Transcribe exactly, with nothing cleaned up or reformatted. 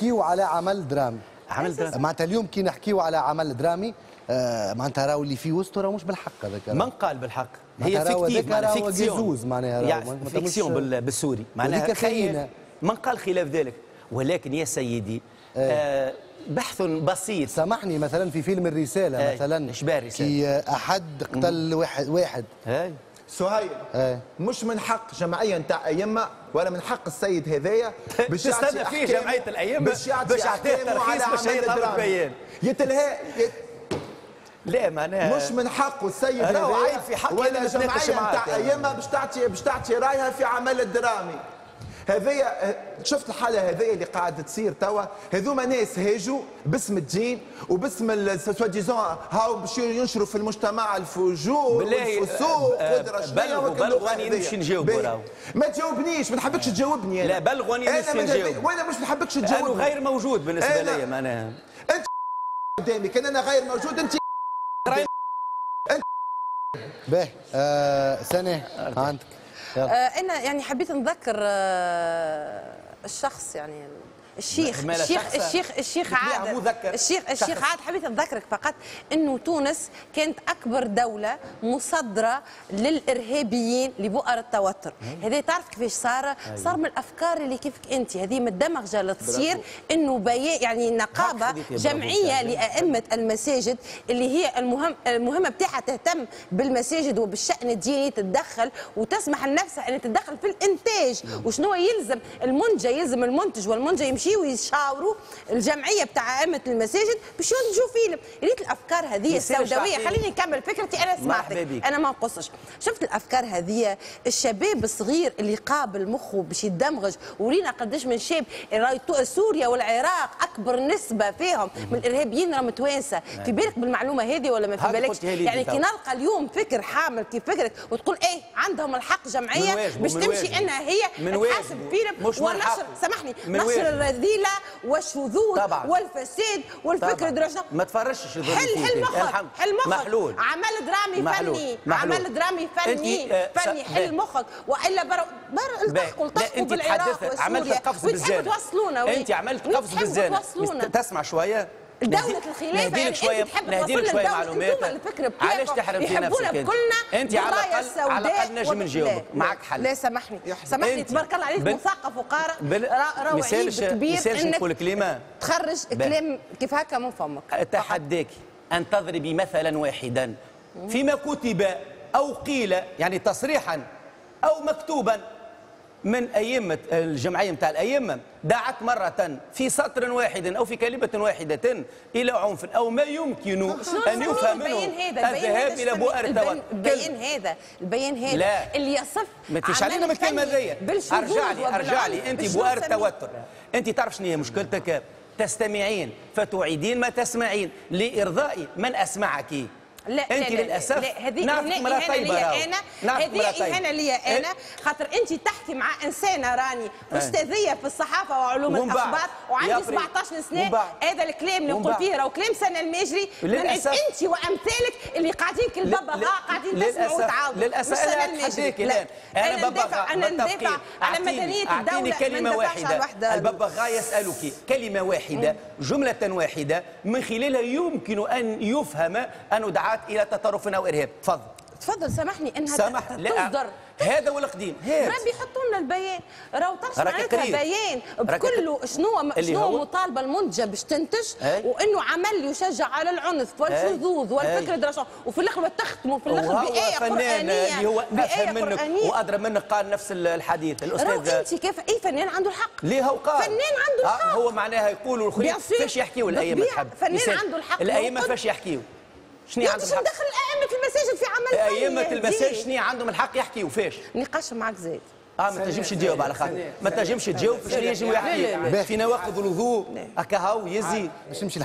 نحكيو على عمل درامي. عمل درامي معناتها اليوم كي نحكيو على عمل درامي آه معناتها راهو اللي في وسطه راهو مش بالحق هذاك. من قال بالحق؟ هي fictif، معناها fiction، معناها يعني fiction بالسوري، معناها خيال. من قال خلاف ذلك؟ ولكن يا سيدي آه بحث بسيط. سامحني، مثلا في فيلم الرسالة آه مثلا اشباه الرسالة كي احد قتل واحد واحد هاي سهيل ايه. مش من حق جمعية نتاع ائمة ولا من حق السيد هذايا باش تستنى فيه جمعية الائمة باش يعطيه ترخيص باش يطلب بيان يتلهى يت... لا معناها مش من حقه السيد هذايا عيب في حق ولا جمعية نتاع ائمة باش تعطي باش تعطي رايها في عمل الدرامي هذايا. شفت الحالة هذيا اللي قاعدة تصير توا؟ هذوما ناس هاجوا باسم الدين وباسم soi-disant هاو باش ينشروا في المجتمع الفجور والفسوق ودرا شنو. بلغ واني نمشي نجاوب راهو. ما تجاوبنيش، ما نحبكش تجاوبني انا. لا بلغ واني نمشي نجاوب. وانا مش نحبكش تجاوبني. انا غير موجود بالنسبة لي معناها. انت قدامي كان انا غير موجود انت انت باهي. آه سنة عندك. آه انا يعني حبيت نذكر آه الشخص يعني الشيخ الشيخ الشيخ الشيخ عادل الشيخ الشيخ عادل، حبيت نذكرك فقط انه تونس كانت اكبر دولة مصدره للارهابيين لبؤر التوتر. هذا تعرف كيفاش صار؟ صار من الافكار اللي كيفك انت، هذه من الدمغجه اللي تصير انه بيان يعني نقابة جمعية لائمة المساجد اللي هي المهم المهمة بتاعها تهتم بالمساجد وبالشان الديني، تتدخل وتسمح لنفسها ان تتدخل في الانتاج وشنو يلزم المنتج، يلزم المنتج والمنتج يمشي ويشاوروا الجمعية بتاع ائمة المساجد باش ينتجوا فيلم. ريت الافكار هذه السوداويه. خليني نكمل فكرتي، انا سمعتك، انا ما نقصش. شفت الافكار هذه الشباب الصغير اللي قابل مخه باش يدمغج، ورينا قداش من شاب سوريا والعراق اكبر نسبه فيهم من الارهابيين راهم توانسة. في بالك بالمعلومه هذه ولا ما في بالكش؟ يعني كي نلقى اليوم فكر حامل كيف فكرك وتقول ايه عندهم الحق جمعية باش تمشي انها هي تحاسب فيلم ونشر، سامحني، نشر الرذيلة والشذوذ والفساد والفكر درجه. ما تفرشش. حل حل مخك، حل مخك. محلول. عمل درامي محلول. فني محلول. عمل درامي فني آه فني. حل مخك والا بر بر التحقوا التحقوا بالعراق وسوريا. عملت قفز بالزانه. توصلونا. انت عملت قفز بالزانه. تسمع شوية دولة الخلافة يعني شوية، انت تحب نهديلك شوية معلومات. علاش تحرم في نفسك انت؟ انت على الاقل على الاقل نجم نجاوبك، معك حل. لا سامحني سامحني، تبارك الله عليك مثقف وقارئ، راهو عيب كبير انك نقول كلمة تخرج كلام كيف هكا من فمك. اتحداك ان تضربي مثلا واحدا فيما كتب او قيل، يعني تصريحا او مكتوبا من أئمة الجمعية نتاع الأئمة دعت مرة في سطر واحد أو في كلمة واحدة إلى عنف أو ما يمكن أن يفهم منه الذهاب إلى بؤر التوتر. البيان هذا البيان هذا لا. اللي يصف ما تيش علينا من الكلمة ذي. أرجع لي أرجع لي أنت بؤر التوتر. أنت تعرف شنو هي مشكلتك؟ تستمعين فتعيدين ما تسمعين لإرضاء من أسمعك. لا انت لا للاسف لا هذه اهانه ليا انا، هذه اهانه ليا انا، خاطر انت تحكي مع انسانه راني استاذيه في الصحافة وعلوم الاخبار وعندي سبعطاش سنة، هذا الكلام اللي نقول فيه راهو كلام سنة الماجري. انت وامثالك اللي قاعدين كالببغاء قاعدين تسمعوا وتعاودوا. للاسف انا اتحداك الان. انا ببغاء انا ندافع على مدنية الدولة. كلمة واحدة، الببغاء يسالك كلمة واحدة، جملة واحدة من خلالها يمكن ان يفهم انه دعت الى تطرف او ارهاب. تفضل تفضل. سامحني انها سامح. تصدر هذا هو القديم. هات ربي يحطوا لنا البيان، راهو تعرف معناتها بيان بكله شنو شنو المطالبة المنتجة باش تنتج، وانه عمل يشجع على العنف والشذوذ والفكر دراسة، وفي الاخر تختموا في الاخر بايه قرانية اللي هو افهم منك وادرى منك قال نفس الحديث الاستاذ. انت كيف اي فنان عنده الحق؟ ليه هو قال فنان عنده الحق. هو معناها يقولوا الاخرين فاش يحكيوا الائمة تحب فنان عنده الحق. الائمة فاش يحكيوا؟ شنو عندهم الحق؟ ندخل ائمة المساجد في عمل فني. ائمة المساجد شنو عندهم الحق يحكيوا فاش؟ نقاش معك زايد. اه ما تنجمش تجاوب على خاطر ما تنجمش تجاوب شنو ينجموا يحكيوا في نواقض الوضوء هكا هاو يزي باش نمشي.